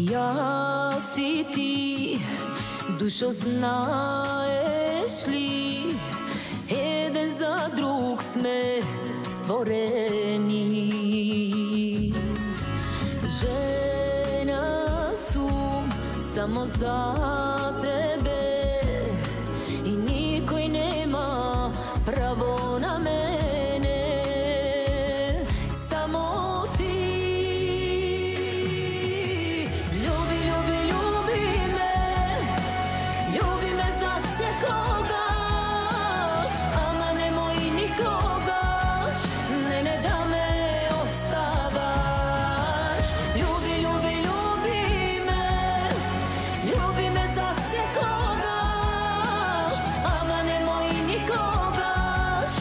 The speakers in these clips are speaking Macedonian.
Јас и ти, душо, знаеш ли, еден за друг сме створени. Жена сум само за тебе и никој нема право на мене. Само ти. Љуби, љуби, љуби ме, љуби ме за секогаш, ама немој никогаш мене да ме оставаш. Љуби, љуби, љуби ме, љуби ме за секогаш, ама немој никогаш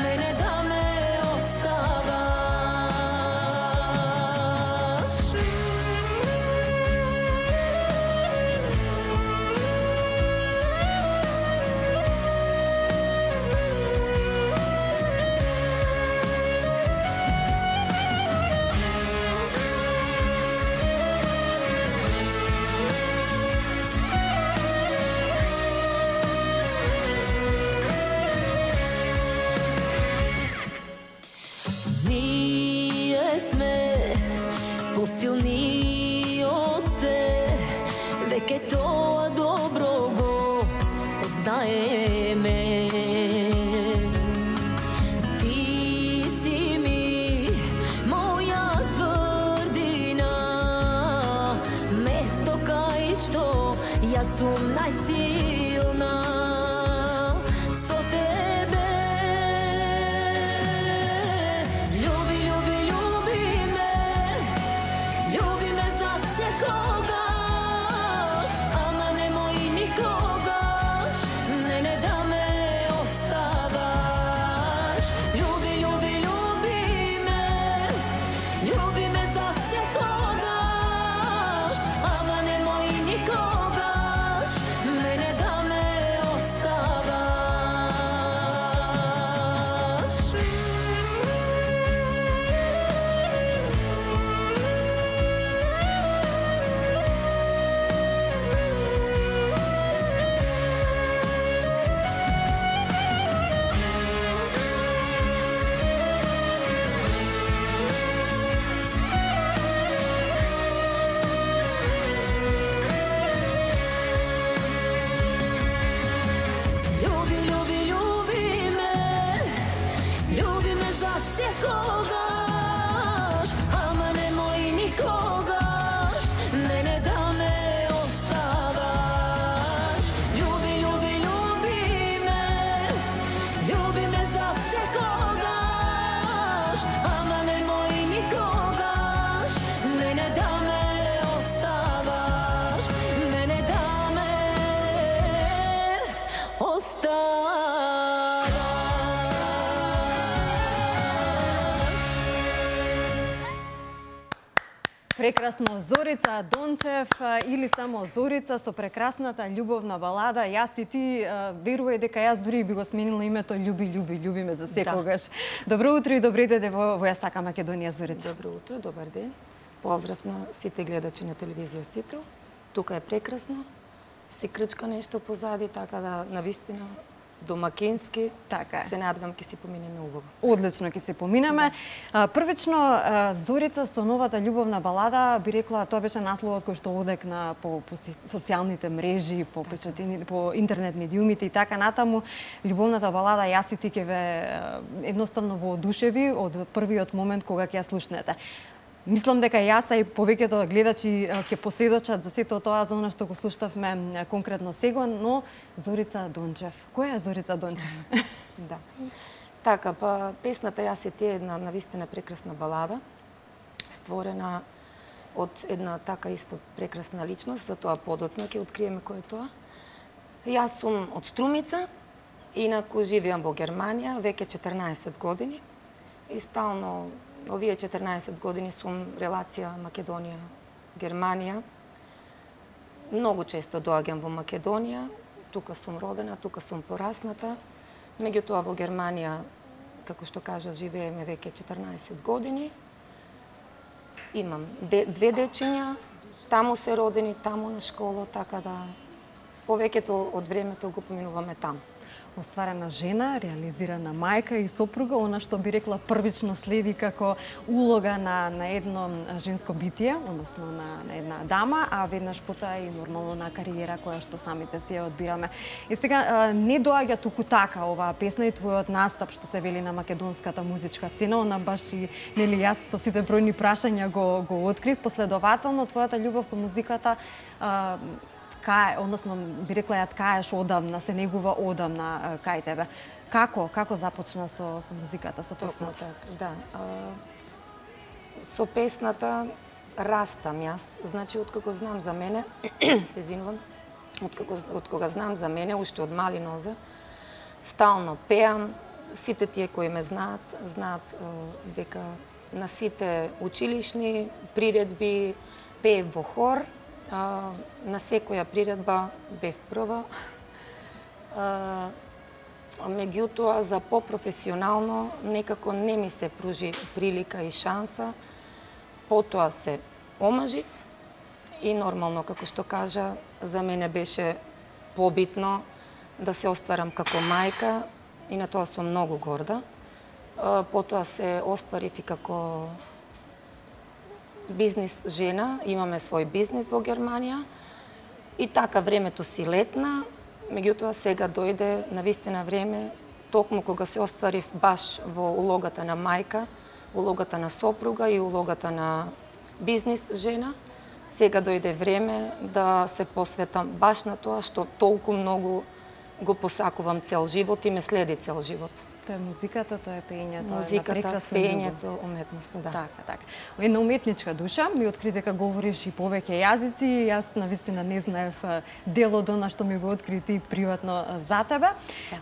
мене да ме оставаш. Ние сме посилни од се, веќе тоа добро го знаеме. Ти си ми моја тврдина, место кај што јас сум најсилна. Со тебе. Љуби, љуби, љуби ме, љуби ме за секогаш, ама немој никогаш мене да ме оставаш. Љуби, љуби, љуби ме, љуби ме за секогаш, ама немој никогаш мене да ме оставаш. Љуби, љуби, љуби ме, љуби ме за секогаш, ама немој никогаш мене да ме оставаш. Љуби, љуби, љуби ме, љуби ме за секогаш, ама немој никогаш мене да ме оставаш. Мене да ме Прекрасно, Зорица Дончев или само Зорица со прекрасната љубовна балада Јас и ти. Верувај дека јас дури би го сменила името Љуби, љуби, љуби ме за секогаш. Добро утро и добре дојде во Ја сакам Македонија, Зорица. Добро утро, добар ден. Поздрав на сите гледачи на телевизија Сител. Тука е прекрасно. Се крчка нешто позади, така да навистина домакински. Така е. Се надевам ќе си поминеме убаво. Одлично ќе се поминеме. Првично, Зорица со новата љубовна балада, би рекла, тоа беше насловот кој што одекна по социјалните мрежи, по печатини, по интернет медиумите и така натаму. Љубовната балада Јас и ти ќе ве едноставно воодушеви од првиот момент кога ќе ја слушнете. Мислам дека јас и повеќето гледачи ќе поседочат за сето тоа за она што го слушнавме конкретно сега, но Зорица Дончев. Која е Зорица Дончев? Да. Така, па песната Јас и ти е една навистина прекрасна балада, створена од една така исто прекрасна личност, за тоа подоцна ќе откриеме кој е тоа. Јас сум од Струмица, инаку живеам во Германија веќе 14 години и стално овие 14 години сум релација Македонија-Германија. Многу често доаѓам во Македонија, тука сум родена, тука сум порасната. Меѓутоа во Германија, како што кажав, живееме веќе 14 години. Имам две дечиња, таму се родени, таму на школа, така да повеќето од времето го поминуваме таму. Остварена жена, реализирана мајка и сопруга, она што би рекла првично следи како улога на едно женско битие, односно на една дама, а веднаш потоа и нормално на кариера која што самите си ја одбираме. И сега не доаѓа туку така оваа песна и твојот настап што се вели на македонската музичка сцена, она баш и нели јас со сите бројни прашања го открив. Последователно твојата љубов кон музиката односно би рекла ја ткаеш одамна, се негува одамна кај тебе. Како започна со музиката, со песната? Да. Со песната растам јас. Значи, откако знам за мене, се извинувам, од кога знам за мене, уште од мали нозе, стално пеам. Сите тие кои ме знаат дека на сите училишни приредби пеев во хор. На секоја приредба бев прва. Меѓутоа, за попрофесионално некако не ми се пружи прилика и шанса. Потоа се омажив и нормално, како што кажа, за мене беше побитно да се остварам како мајка и на тоа сум многу горда. Потоа се остварив и како бизнис жена, имаме свој бизнис во Германија и така времето си летна, меѓутоа сега дојде навистина време, токму кога се остварив баш во улогата на мајка, улогата на сопруга и улогата на бизнис жена, сега дојде време да се посветам баш на тоа што толку многу го посакувам цел живот и ме следи цел живот. Тоа е музиката, тоа е пеењето, музиката, пеењето, уметноста, да. Така. Една уметничка душа, ми откри дека говориш и повеќе јазици, јас навистина не знаев дел од она што ми го откри ти приватно за тебе.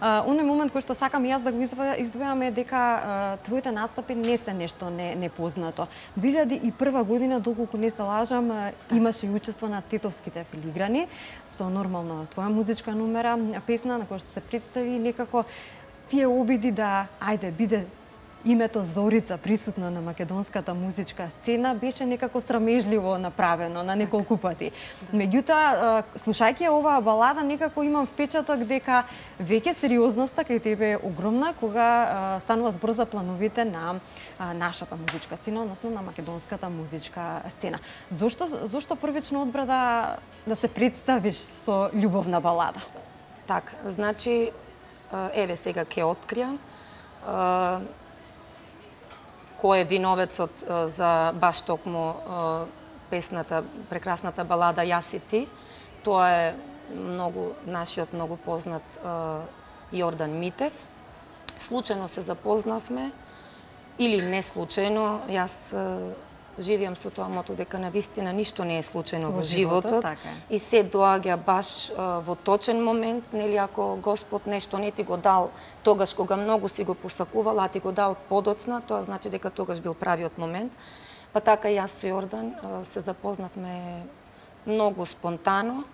Оној момент кој што сакам јас да го издвојам е дека твоите настапи не се нешто непознато. 2001 година, доколку не се лажам, имаше и учество на Тетовските филиграни со нормално твоја музичка номера, песна на која што се представи некако тие обиди да, биде името Зорица присутно на македонската музичка сцена, беше некако срамежливо направено на неколку пати. Меѓутоа, слушајќи оваа балада, некако имам впечаток дека веќе сериозноста кај тебе е огромна кога станува збор за плановите на нашата музичка сцена, односно на македонската музичка сцена. Зошто првично одбра да се представиш со љубовна балада? Така, значи, еве сега ќе откријам кој е виновецот за баш токму песната, прекрасната балада Јас и ти. Тоа е нашиот многу познат Јордан Митев. Случајно се запознавме или не случајно. Јас живеам со тоа мото дека навистина ништо не е случајно во животот и се доаѓа баш во точен момент, нели ако Господ нешто не ти го дал тогаш кога многу си го посакувал, а ти го дал подоцна, тоа значи дека тогаш бил правиот момент. Па така јас со Јордан се запознавме многу спонтано,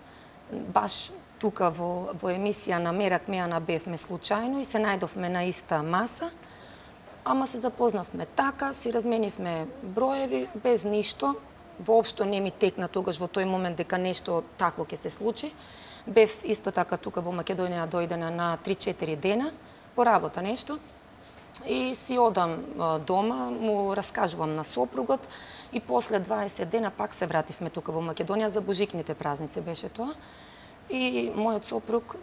баш тука во емисија на Мерак Мејана бевме случајно и се најдовме на иста маса. Ама се запознавме така, си разменивме броеви, без ништо. Воопшто не ми текна тогаш во тој момент дека нешто такво ќе се случи. Бев исто така тука во Македонија дојдена на 3-4 дена, по работа нешто. И си одам дома, му раскажувам на сопругот и после 20 дена пак се вративме тука во Македонија, за божикните празници беше тоа. И мојот сопруг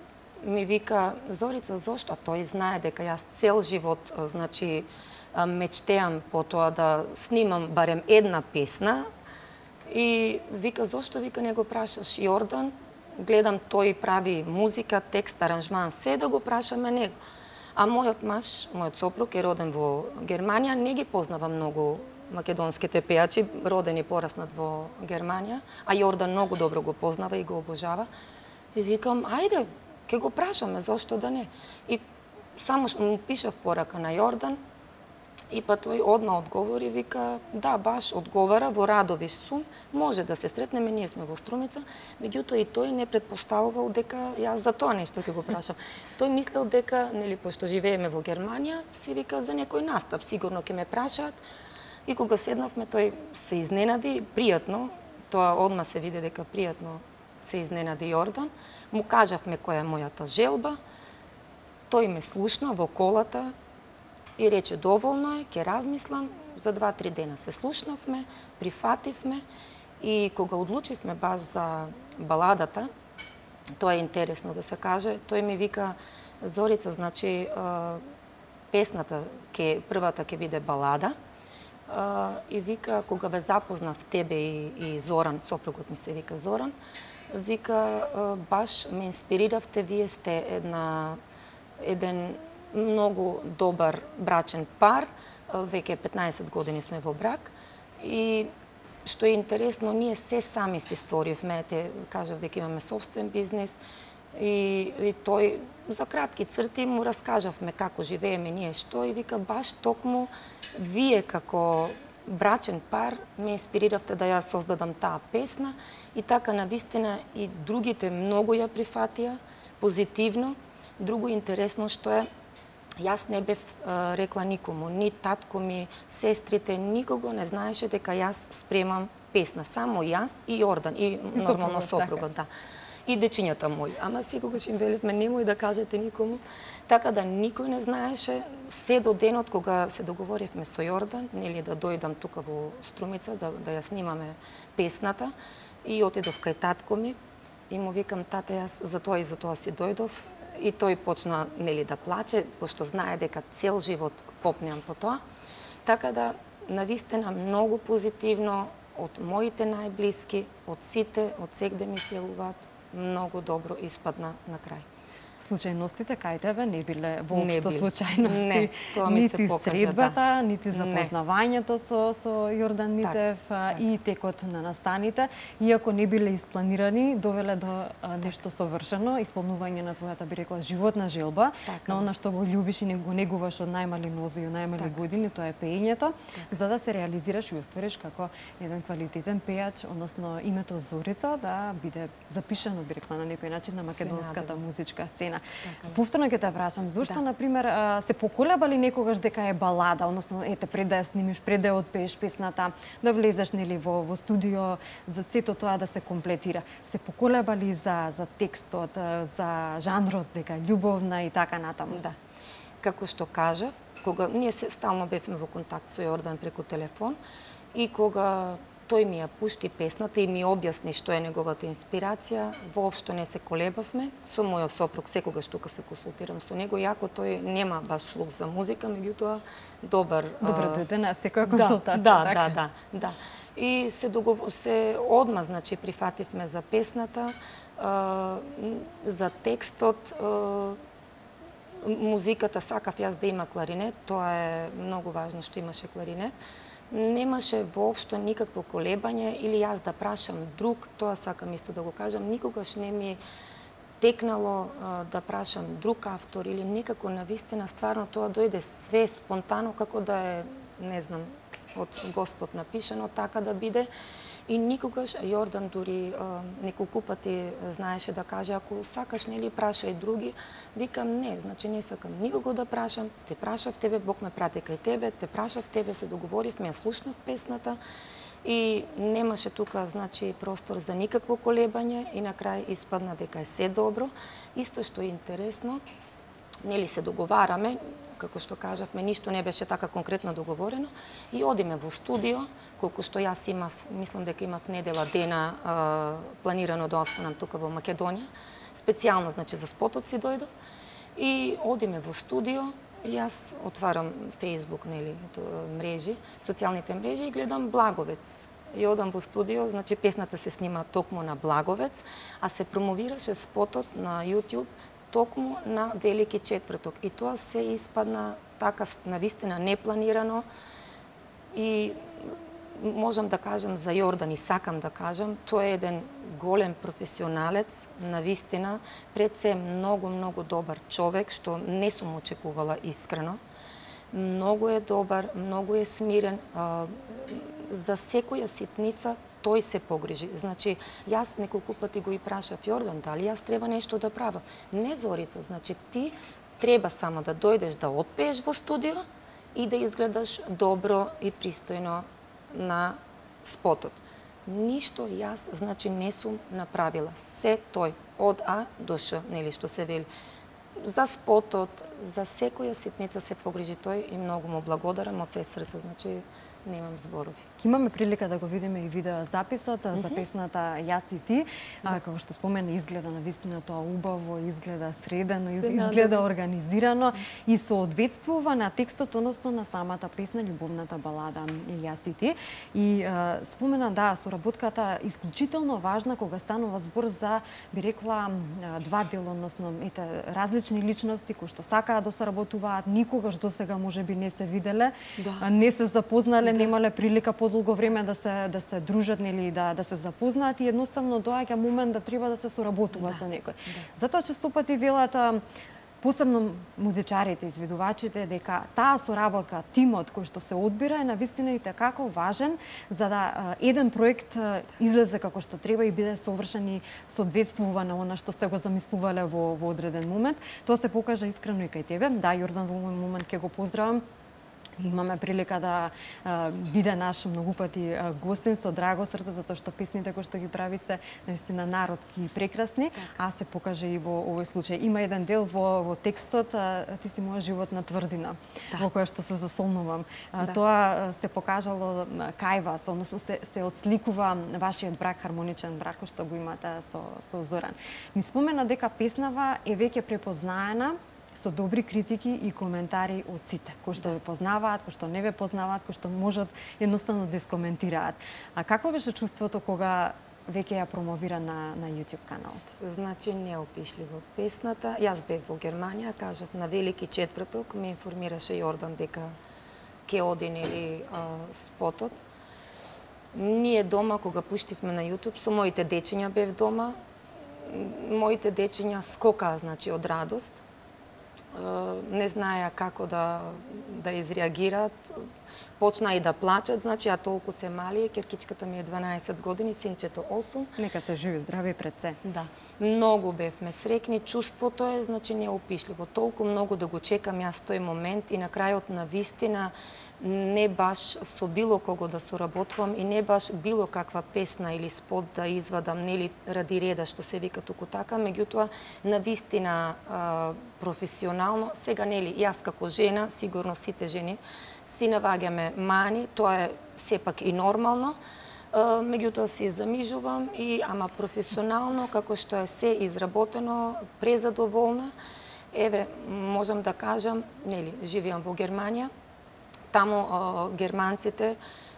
ми вика: Зорица, зошто? Тој знае дека јас цел живот, значи, мечтеам по тоа да снимам барем една песна. И вика: зошто, вика, не го прашаш Јордан? Гледам, тој прави музика, текст, аранжман, се да го прашаме него. А мојот маж, мојот сопруг е роден во Германија, не ги познава многу македонските пејачи, роден и пораснат во Германија, а Јордан многу добро го познава и го обожава. И викам: ајде, ќе го прашаме, зошто да не? И само му пишав порака на Јордан и па тој одма одговори, вика: да, баш одговара, во Радовиш сум, може да се сретнеме, ние сме во Струмица, меѓутоа и тој не предпоставувал дека јас за тоа нешто ќе го прашам. Тој мислел дека, нели, пошто живееме во Германија, си вика за некој настап, сигурно ќе ме прашаат. И кога седнавме, тој се изненади, пријатно, тоа одма се виде дека пријатно се изненади Јордан. Му кажавме која е мојата желба. Тој ме слушна во колата и рече доволно е, ќе размислам. За 2-3 дена се слушнавме, прифативме и кога одлучивме баш за баладата, тоа е интересно да се каже, тој ми вика: Зорица, значи песната првата ќе биде балада. И вика, кога ве запознав тебе и Зоран, сопругот ми се вика Зоран, вика, баш ме инспириравте, вие сте еден многу добар брачен пар, веќе 15 години сме во брак и што е интересно, ние се сами си створивме, кажав дека имаме собствен бизнис и тој за кратки црти му раскажавме како живееме ние што и вика баш токму вие како брачен пар ме инспириравте да ја создадам таа песна и така навистина и другите многу ја прифатија позитивно. Друго интересно што е, јас не бев рекла никому, ни татко ми, сестрите, никого не знаеше дека јас спремам песна, само јас и Јордан и нормално сопругот, да. И дечињата мои. Ама секогаш им велевме немој да кажете никому, така да никој не знаеше се до денот кога се договоривме со Јордан, нели да дојдам тука во Струмица да ја снимаме песната и отидов кај татко ми и му викам: тате, јас за тоа си дојдов. И тој почна нели да плаче, пошто знае дека цел живот копнеам по тоа. Така да навистина многу позитивно од моите најблиски, од сите, од сегде ми се јавуваат, многу добро испадна на крај. Случајностите кај тебе не биле воопшто случајности, не, тоа ми се нити покажа, средбата, да. нити запознавањето со Јордан Митев и текот на настаните, иако не биле испланирани, довеле до нешто совршено, исполнување на твојата, би рекла, животна желба, на она што го љубиш и го негуваш од најмали нози и од најмали години, тоа е пеењето, за да се реализираш и оствариш како еден квалитетен пејач, односно името Зорица да биде запишано, би рекла, на некој начин на македонската музичка сцена. Повторно ќе те прашам, зошто, например, се поколеба ли некогаш дека е балада, односно, ете, пред да ја снимиш, пред да ја отпееш песната, да влезеш, нели, во студио, за сето тоа да се комплетира. Се поколеба ли за текстот, за жанрот, дека љубовна и така натаму? Да. Како што кажав, кога ние стално бевме во контакт со Јордан преку телефон и кога тој ми ја пушти песната и ми објасни што е неговата инспирација, воопшто не се колебавме. Со мојот сопруг секогаш тука се консултирам со него, иако тој нема баш слух за музика, меѓутоа добар дојде на секоја консултација. Да. И се одма, значи, прифативме за песната, за текстот, музиката сакав јас да има кларинет, тоа е многу важно што имаше кларинет. Немаше воопшто никакво колебање или јас да прашам друг, тоа сакам исто да го кажам, никогаш не ми текнало да прашам друг автор или некако навистина стварно тоа дојде све спонтано како да е, не знам, од Господ напишано, така да биде. И никогаш Јордан дури неколку пати знаеше да каже: ако сакаш, нели, прашај други. Викам: не, значи не сакам никого да прашам, те прашав тебе, Бог ме прати кај тебе, те прашав тебе, се договоривме, ја слушнав песната и немаше тука, значи, простор за никакво колебање и на крај испадна дека е се добро. Исто што е интересно, нели, се договараме, како што кажавме, ништо не беше така конкретно договорено и одиме во студио, колку што јас имав, мислам дека имав недела дена планирано да останам тука во Македонија, специјално, значи, за спотот си дојдов и одиме во студио, јас отварам Facebook, нели, мрежи, социјалните мрежи и гледам Благовец. И одам во студио, значи песната се снима токму на Благовец, а се промовираше спотот на YouTube токму на Велики четврток. И тоа се испадна така навистина непланирано и можам да кажам за Јордан и сакам да кажам, тој е еден голем професионалец, навистина, пред се многу добар човек, што не сум очекувала искрено. Многу е добар, многу е смирен, за секоја ситница тој се погрижи. Значи, јас неколку пати го и прашав: Јордан, дали јас треба нешто да правам? Не, Зорица, значи ти треба само да дојдеш да отпееш во студио и да изгледаш добро и пристојно на спотот. Ништо јас, значи, не сум направила. Се тој, од А до Ш, нели, што се вели. За спотот, за секоја ситница се погрижи тој и многу му благодарам од се срце, значи, немам зборови. Ке имаме прилика да го видиме и видео записот за песната Јас и ти. Како што спомена, изгледа навистина тоа убаво, изгледа средено, изгледа организирано и соодветствува на текстот, односно на самата песна, љубовната балада Јас и ти. И спомена, да, соработката исклучително важна кога станува збор за, би рекла, два дела, односно различни личности кои што сакаат да соработуваат, никогаш досега можеби не се виделе, не се запознале, немале прилика подолго време да се дружат, нели, да се запознаат и едноставно доаѓа момент да треба да се соработува со некој. Затоа често пати велат, посебно музичарите, изведувачите, дека таа соработка, тимот кој што се одбира е навистина и како важен за да еден проект излезе како што треба и биде совршен и соодветствува на она што сте го замислувале во одреден момент. Тоа се покажа искрено и кај тебе. Да, Јордан, во овој момент ќе го поздравам. Имаме прилика да биде наш многу пати гостин со драго срце, затоа што песните кои што ги прави се наистина народски и прекрасни, а се покаже и во овој случај. Има еден дел во текстот Ти си моја животна тврдина, во која што се засолнувам. Тоа се покажало кај вас, односно се отсликува вашиот брак, хармоничен брак кој што го имате со Зоран. Ми спомена дека песнава е веќе препознаена со добри критики и коментари од сите, кои што ве познаваат, кои што не ве познаваат, кои што можат едноставно да искоментираат. А какво беше чувството кога веќе ја промовира на YouTube каналот? Значи, неопишливо. Песната, јас бев во Германија, кажав, на Велики четврток, ме информираше Јордан дека ќе оди, нели, спотот. Ние дома, кога пуштивме на YouTube, со моите дечиња бев дома, моите дечиња скокаа, значи, од радост. Не знаеа како да изреагираат, почна и да плачат, значи, а толку се мали, керкичката ми е 12 години, синчето 8. Нека се живи, здрави пред се. Да. Многу бевме срекни, чувството е, значи, неопишливо. Толку многу да го чекам јас тој момент и на крајот на вистина не баш со било кого да соработувам и не баш било каква песна или спот да извадам, нели, ради реда што се вика туку така, меѓутоа навистина професионално. Сега, нели, јас како жена, сигурно сите жени си наваѓаме мани, тоа е сепак и нормално, меѓутоа си замижувам и ама професионално, како што е се изработено, презадоволна. Еве, можам да кажам, нели, живеам во Германија. Таму германците,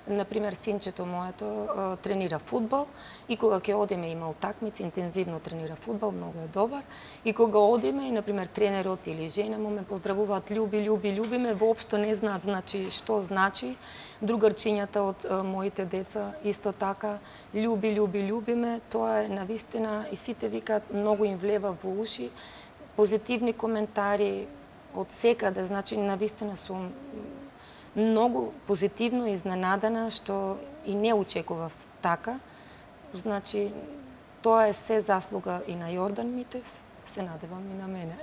например, синчето моето тренира фудбал и кога ќе одиме, има утакмици, интензивно тренира фудбал, многу е добар. И кога одиме, и например тренерот или жена му ме поздравуваат љуби ме, воопшто не знаат, значи, што значи. Другарчињата од моите деца исто така љуби ме, тоа е навистина и сите викаат, многу им влева во уши, позитивни коментари од секаде, значи навистина сум многу позитивно изненадана, што и не очекував така. Значи, тоа е се заслуга и на Јордан Митев, се надевам и на мене.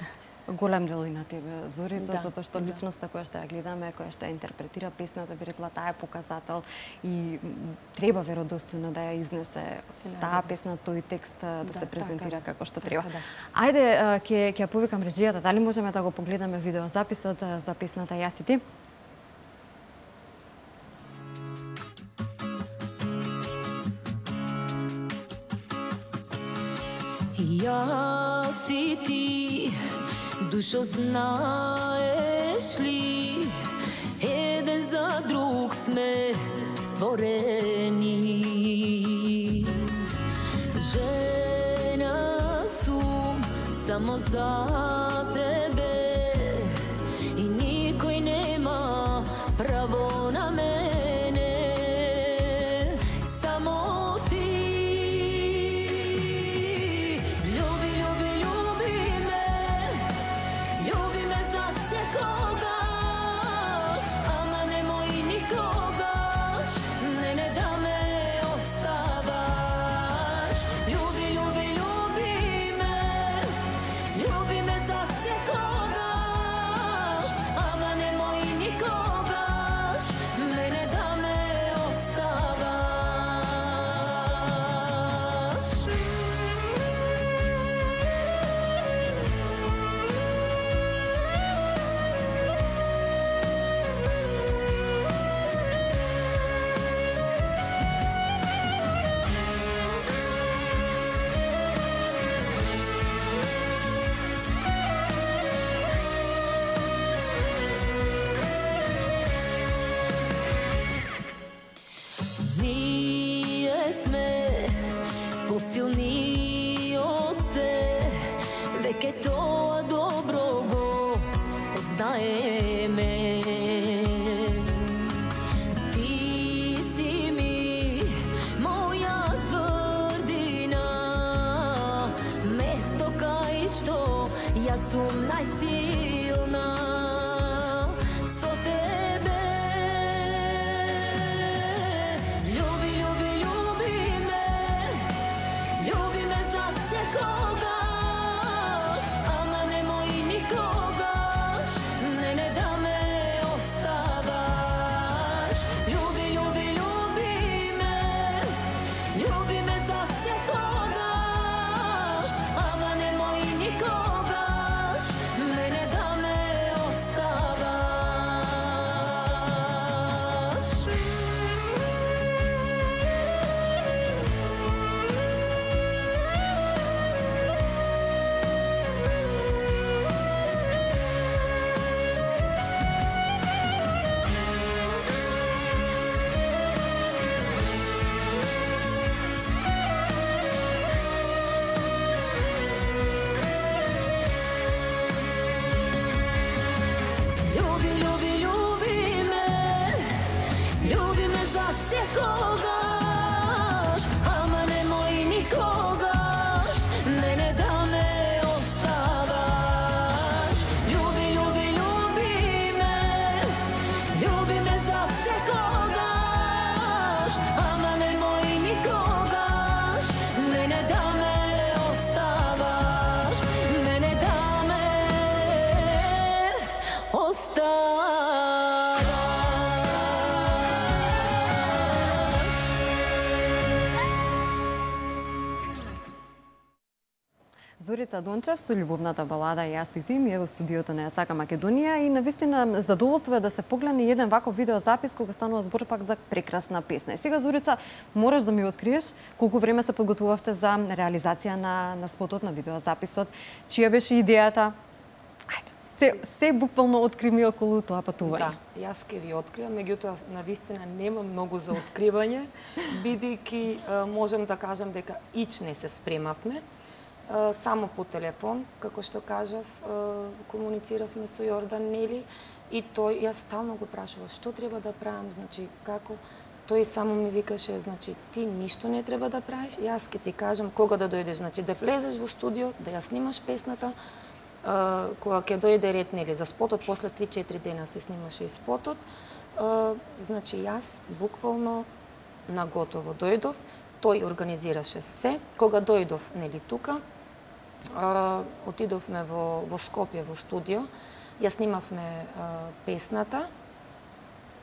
Голем дел и на тебе, Зорица, затоа што личноста која што ја гледаме, која што ја интерпретира песната, би рекла, таа е показател и треба веродостојно да ја изнесе таа песна, тој текст да се презентира како што треба. Ајде, ќе ја повикам реџијата, дали можеме да го погледаме видеозаписот за песната Јас и ти? Јас и ти, душо, знаеш ли, еден за друг сме створени. Жена сум само за тебе и никој нема право на мене. Ljubi me za Зорица Дончев со љубовната балада Јас и ти ми е во студиото на Јасака Македонија и навистина задоволство е да се погледне еден ваков видеозапис кога станува збор пак за прекрасна песна. И сега Зорица мораш да ми откриеш колку време се подготвувавте за реализација на спотот на видеозаписот, чија беше идејата? Ајде, се буквално откри ми околу тоа патување. Да, јас ке ви откриам, меѓутоа навистина нема многу за откривање, бидејќи можам да кажам дека ич не се спремавме. Само по телефон, како што кажав, комунициравме со Јордан Нели и тој, јас стално го прашував што треба да правам, значи како, тој само ми викаше, значи ти ништо не треба да правиш, јас ќе ти кажам кога да дојдеш, значи да влезеш во студио, да ја снимаш песната, кога ќе дојде ред, нели, за спотот, после 3-4 дена се снимаше и спотот, значи јас буквално наготово дојдов, тој организираше се, кога дојдов, нели, тука, отидовме во Скопје во студио, ја снимавме песната,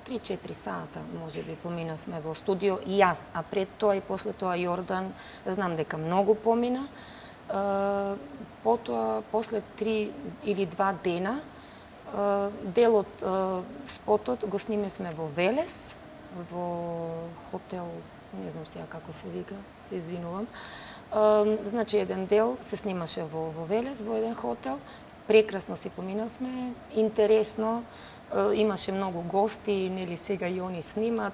3-4 сата, може би, поминавме во студио, и јас, а пред тоа и после тоа Јордан, знам дека многу помина. Потоа, после 3 или 2 дена, дел од спотот го снимевме во Велес, во хотел, не знам сега како се вика, се извинувам. Значи, еден дел се снимаше во Велес, во еден хотел. Прекрасно си поминавме, интересно, имаше многу гости, нели сега и они снимаат,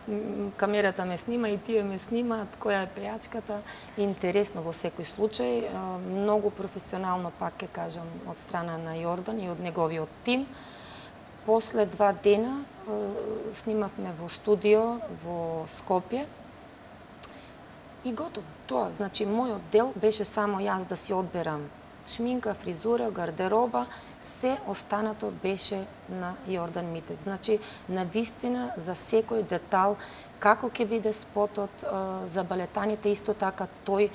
камерата ме снима и тие ме снимаат, која е пејачката. Интересно во секој случај, многу професионално, пак ќе кажам, од страна на Јордан и од неговиот тим. После 2 дена снимавме во студио во Скопје и готово. Тоа, значи, мојот дел беше само јас да си одберам шминка, фризура, гардероба, се останато беше на Јордан Митев. Значи, навистина за секој детал, како ќе биде спотот, за балетаните исто така, тој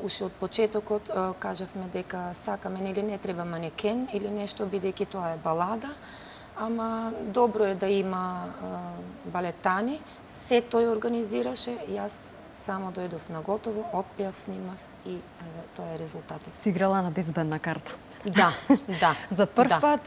уште од почетокот кажавме дека сакаме, нели не треба манекен или нешто, бидејќи тоа е балада, ама добро е да има балетани, се тој организираше, јас само дојдов на готово, отпеав, снимав и тоа е резултатот. Си играла на безбедна карта. Да, да. За прв пат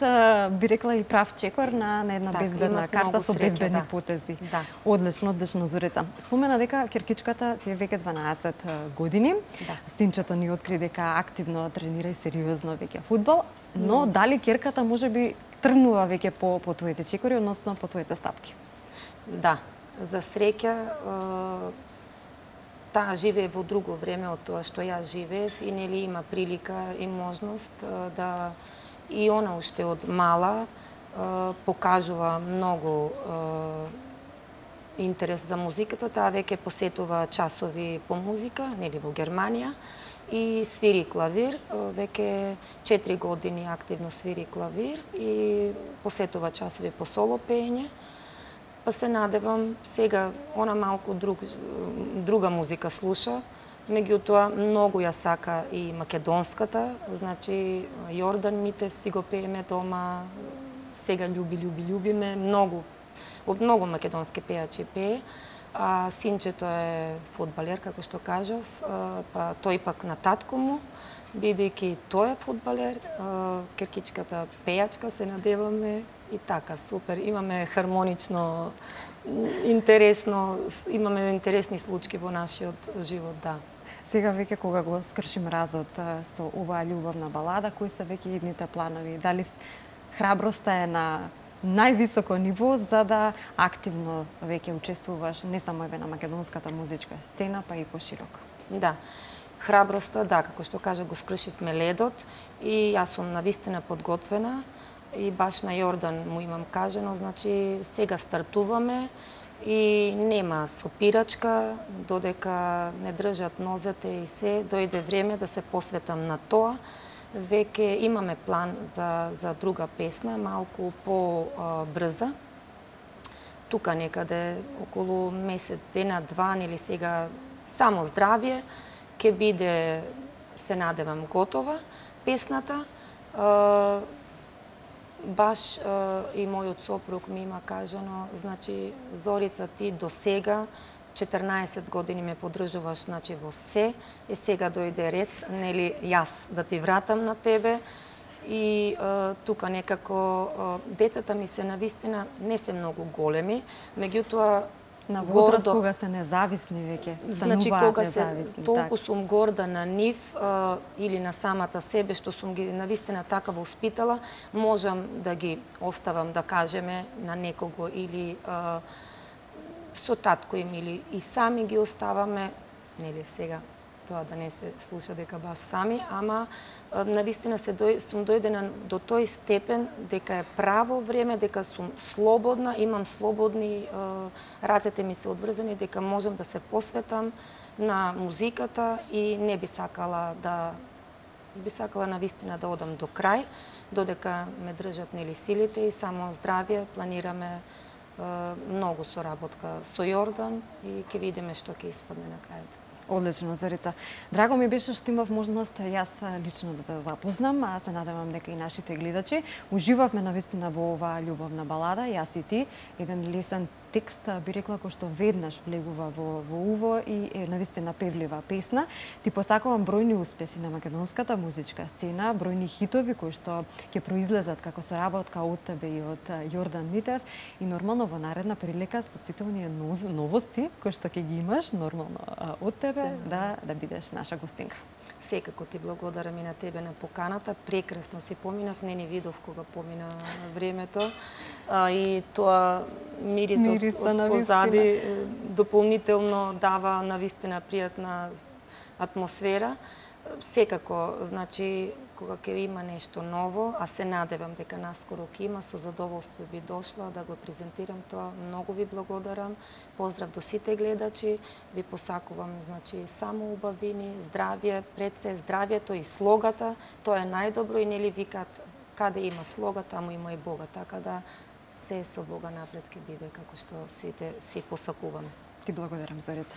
би рекла и прав чекор на една безбедна карта со безбедни потези. Да. Одлично, Зорица. Спомена дека керкичката ти е веќе 12 години. Да. Синчето ни откри дека активно тренира и сериозно веќе фудбал, но дали керката можеби тргнува веќе по твоите чекори, односно по твоите стапки? Да, за среќа таа живее во друго време од тоа што јас живеев и нели има прилика и можност да и она уште од мала покажува многу интерес за музиката, таа веќе посетува часови по музика, нели во Германија и свири клавир, веќе 4 години активно свири клавир и посетува часови по соло пеење. Па се надевам, сега она малку друга музика слуша, меѓутоа многу ја сака и македонската, значи Јордан Митев си го пееме дома, сега љуби ме, од многу македонски пејачи пее, а синчето е фудбалер, како што кажав, па тој пак на татко му, бидејќи тој е фудбалер, керкичката пејачка, се надеваме и така, супер, имаме хармонично, интересно, имаме интересни случаи во нашиот живот, да. Сега веќе кога го скршим разот со оваа љубовна балада, кои се веќе идните планови? Дали храброста е на највисоко ниво за да активно веќе учествуваш не само на македонската музичка сцена, па и пошироко? Да. Храброста, да, како што кажа, го скршивме ледот и јас сум навистина подготвена и баш на Јордан му имам кажено, значи сега стартуваме и нема сопирачка, додека не држат нозете и се, дојде време да се посветам на тоа. Веќе имаме план за друга песна, малку по-брза. Тука некаде околу месец, дена, два, нели сега само здравје, ќе биде, се надевам, готова песната. Баш и мојот сопруг ми има кажано, значи, Зорица, ти до сега 14 години ме поддржуваш, значи во се, сега дојде ред, нели јас да ти вратам на тебе. И тука некако децата ми се навистина не се многу големи, меѓутоа на возраст кога се независни веќе, значи кога се независни, толку сум горда на нив или на самата себе што сум ги навистина така воспитала, можам да ги оставам, да кажеме, на некого или со татко им или и сами ги оставаме, нели сега тоа да не се слуша дека баш сами, ама навистина сум дојдена до тој степен дека е право време, дека сум слободна, имам слободни, рацете ми се одврзани, дека можам да се посветам на музиката и не би сакала навистина да одам до крај, додека ме држат нели силите и само здравје, планираме многу соработка со Јордан и ќе видиме што ќе испадне на крајот. Одлично, Зорица. Драго ми беше што имав можност јас лично да те запознам, а се надевам дека и нашите гледачи. Уживавме навистина во оваа љубовна балада, јас и ти, еден лесен текст, би рекла, кој што веднаш влегува во уво и е навистина певлива песна. Ти посакувам бројни успеси на македонската музичка сцена, бројни хитови кои што ќе произлезат како соработка од тебе и од Јордан Митев и нормално во наредна прилика со сите оние новости кои што ќе ги имаш нормално од тебе да бидеш наша гостинка. Секако ти благодарам и на тебе на поканата. Прекрасно си поминав, не ни видов кога помина времето. И тоа мирисот од позади дополнително дава навистина пријатна атмосфера. Секако, значи, кога ќе има нешто ново, а се надевам дека наскоро ќе има, со задоволство би дошла да го презентирам тоа. Многу ви благодарам. Поздрав до сите гледачи. Ви посакувам, значи, само убавини, здравје, пред се здравјето и слогата. Тоа е најдобро и нели викат каде има слога, таму има и Бога. Така да се со Бога напред ќе биде како што сите си посакуваме. Ти благодарам, Зорица.